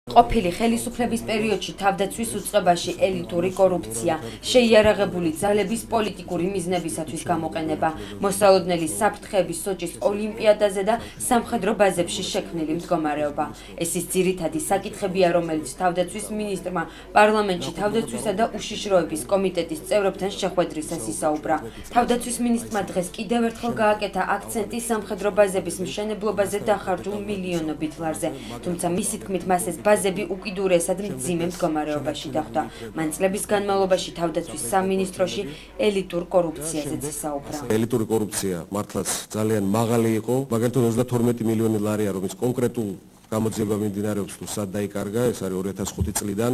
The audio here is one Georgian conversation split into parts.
ყოფილი ხელისუფლების პერიოდში თავდაცვის უწყებაში ელიტური კორუფცია, შეიარაღებული ძალების პოლიტიკური მიზნებისათვის გამოყენება, მოსალოდნელი საფრთხეების სოჭის ოლიმპიადაზე და სამხედრო ბაზებში შექმნილი მდგომარეობა. ეს ის ძირითადი საკითხებია, რომელიც თავდაცვის მინისტრმა პარლამენტში თავდაცვისა და უშიშროების კომიტეტის წევრებთან შეხვედრისას ისაუბრა. თავდაცვის მინისტრმა დღეს კიდევ ერთხელ გააკეთა აქცენტი სამხედრო ბაზების მშენებლობაზე დახარჯულ მილიონობით ლარზე, თუმცა მისი თქმით მას ეს ბაზები უკიდურესად მძიმე მდგომარეობაში დახვდა. მან წლების განმავლობაში თავდაცვის სამინისტროში ელიტურ კორუფციაზეც ისაუბრა. ელიტური კორუფცია მართლაც ძალიან მაღალი იყო, მაგალითად 32 მილიონი ლარია, რომელიც კონკრეტულ გამოძიება მიმდინარეობს თუ სად დაიკარგა, ეს არის 2005 წლიდან.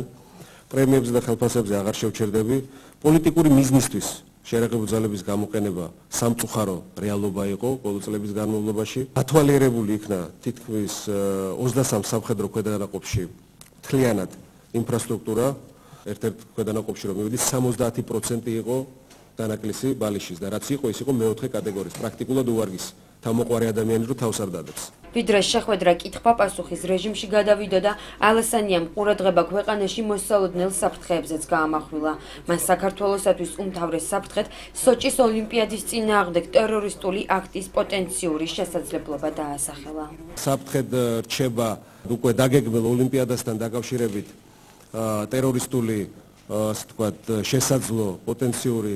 პრემიებზე და ხელფასებზე აღარ შევჩერდები. პოლიტიკური მიზნისთვის შეიარაღებული ძალების გამოყენება სამწუხარო რეალობა იყო ყოველ წლების განმავლობაში. ათვალიერებული იქნა თითქმის 23 სამხედრო ქვედანაყოფში მთლიანად ინფრასტრუქტურა, ერთ-ერთ ქვედანაყოფში რომ მივიდეს 70% იყო დანაკლისი ბალიშის და რაც იყო ის იყო მეოთხე კატეგორიის, პრაქტიკულად უვარგისი. თავმოყვარე ადამიანი რო თავს არ დადებს. ვიდრე შეხვედრა კითხვა-პასუხის რეჟიმში გადავიდა და ალასანიამ ყურადღება ქვეყანაში მოსალოდნელ საფრთხეებზეც გაამახვილა. მან საქართველოსათვის უმთავრეს საფრთხედ სოჭის ოლიმპიადის წინააღმდეგ ტერორისტული აქტის პოტენციური შესაძლებლობა დაასახელა. საფრთხედ რჩება უკვე დაგეგმილ ოლიმპიადასთან დაკავშირებით ტერორისტული ასე ვთქვათ შესაძლო პოტენციური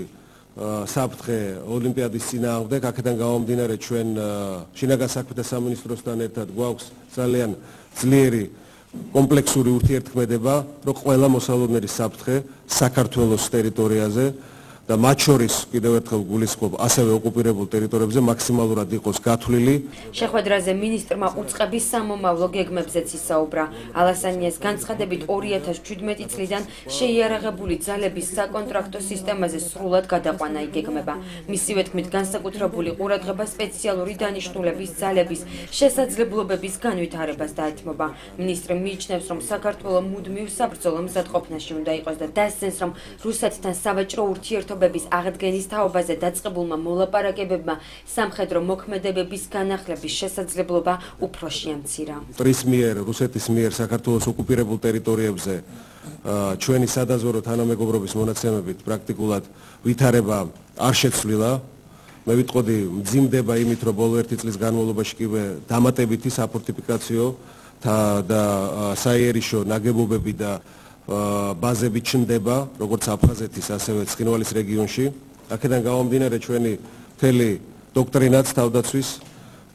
საფრთხე ოლიმპიადის წინააღმდეგ. აქედან გამომდინარე ჩვენ შინაგან საქმეთა სამინისტროსთან ერთად გვაქვს ძალიან ძლიერი კომპლექსური ურთიერთქმედება, რომ ყველა მოსალოდნელი საფრთხე საქართველოს ტერიტორიაზე და მათ შორის კიდევ ერთხელ გულისხმობ ასევე ოკუპირებულ ტერიტორიებზე მაქსიმალურად იყოს გათვლილი. შეხვედრაზე მინისტრმა უწყების სამომავლო გეგმებზეც ისაუბრა. ალასანიას განცხადებით 2017 წლიდან შეიარაღებული ძალების საკონტრაქტო სისტემაზე სრულად გადაყვანა იგეგმება. მისივე თქმით განსაკუთრებული ყურადღება სპეციალური დანიშნულების ძალების შესაძლებლობების განვითარებას დაეთმობა. მინისტრი მიიჩნევს, რომ საქართველო მუდმივ საბრძოლო მზადყოფნაში უნდა იყოს და დასცენს, რომ რუსეთთან სავაჭრო ურთიერთობების აღდგენის თაობაზე დაწყებულმა მოლაპარაკებებმა სამხედრო მოქმედებების განახლების შესაძლებლობა უფრო შეამცირა. რუსეთის მიერ საქართველოს ოკუპირებულ ტერიტორიებზე ჩვენი სადაზვერო თანამეგობრობის მონაცემებით პრაქტიკულად ვითარება არ შეცვლილა. მე ვიტყოდი მძიმდება იმით, რომ ბოლო ერთი წლის განმავლობაში კიდე დამატებითი საფორტიფიკაციო და საიერიშო ნაგებობები და ბაზები ჩნდება, როგორც აფხაზეთის, ასევე ცხინვალის რეგიონში. აქედან გამომდინარე ჩვენი მთელი დოქტრინაც თავდაცვის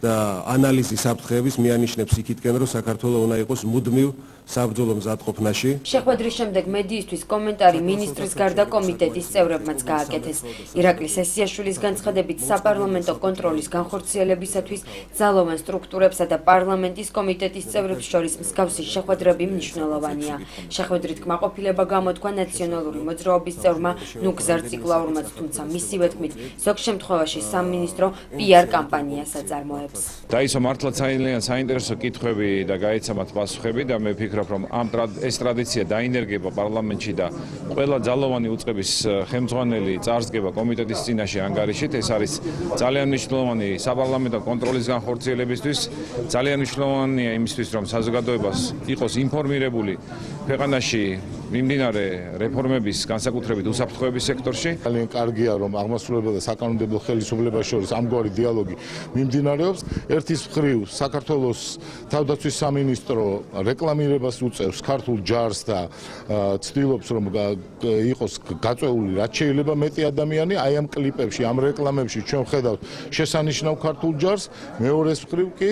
და ანალიზი საფრთხეების მიანიშნებს იქითკენ, რომ საქართველო უნდა იყოს მუდმივ საბრძოლო მზადყოფნაში. შეხვედრის შემდეგ მედიისთვის კომენტარი მინისტრის გარდა კომიტეტის წევრებმაც გააკეთეს. ირაკლი სესიაშვილის განცხადებით საპარლამენტო კონტროლის განხორციელებისათვის ძალოვან სტრუქტურებსა და პარლამენტის კომიტეტის წევრებს შორის მსგავსი შეხვედრები მნიშვნელოვანია. შეხვედრით კმაყოფილება გამოთქვა ნაციონალური მოძრაობის წევრმა ნუგზარ ციკლაურმაც, თუმცა მისივე თქმით ზოგ შემთხვევაში სამინისტრო PR კამპანიას აწარმოებს. დაისო მართლაც ძალიან საინტერესო კითხვები და გაიცემათ პასუხები და მე ვფიქრობ, რომ ეს ტრადიცია დაინერგება პარლამენტში და ყველა ძალოვანი უწყების ხელმძღვანელი წარსდგება კომიტეტის წინაშე ანგარიშით. ეს არის ძალიან მნიშვნელოვანი საპარლამენტო კონტროლის განხორციელებისთვის, ძალიან მნიშვნელოვანია იმისთვის, რომ საზოგადოებას იყოს ინფორმირებული ქვეყანაში მიმდინარე რეფორმების, განსაკუთრებით უსაფრთხოების სექტორში. ძალიან კარგია, რომ აღმასრულებელ და საკანონმდებლო ხელისუფლებას შორის ამგვარი დიალოგი მიმდინარეობს. ერთის მხრივ საქართველოს თავდაცვის სამინისტრო რეკლამირებას უწევს ქართულ ჯარს და ცდილობს, რომ იყოს გაწეული რაც შეიძლება მეტი ადამიანი. აი ამ კლიპებში, ამ რეკლამებში ჩვენ ვხედავთ შესანიშნავ ქართულ ჯარს, მეორეს მხრივ კი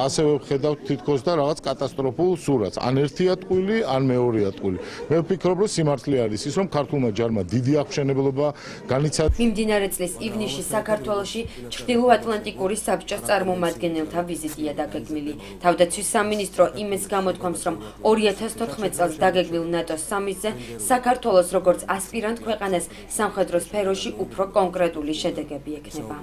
ასევე ვხედავთ თითქოს და რაღაც კატასტროფულ სურათს. ან ერთი ატყვილი, ან მეორე ატყვილი. მე ვფიქრობ, რომ სიმართლე არის ის, რომ ქართულმა ჯარმა დიდი აღმშენებლობა განიცადა. მიმდინარე წლის ივნისში საქართველოში ჩრდილოატლანტიკური საბჭოს წარმომადგენელთა ვიზიტია დაგეგმილი. თავდაცვის სამინისტრო იმედს გამოთქვამს, რომ 2014 წელს დაგეგმილ ნატოს სამიტზე საქართველოს როგორც ასპირანტ ქვეყანას სამხედრო სფეროში უფრო კონკრეტული შედეგები ექნება.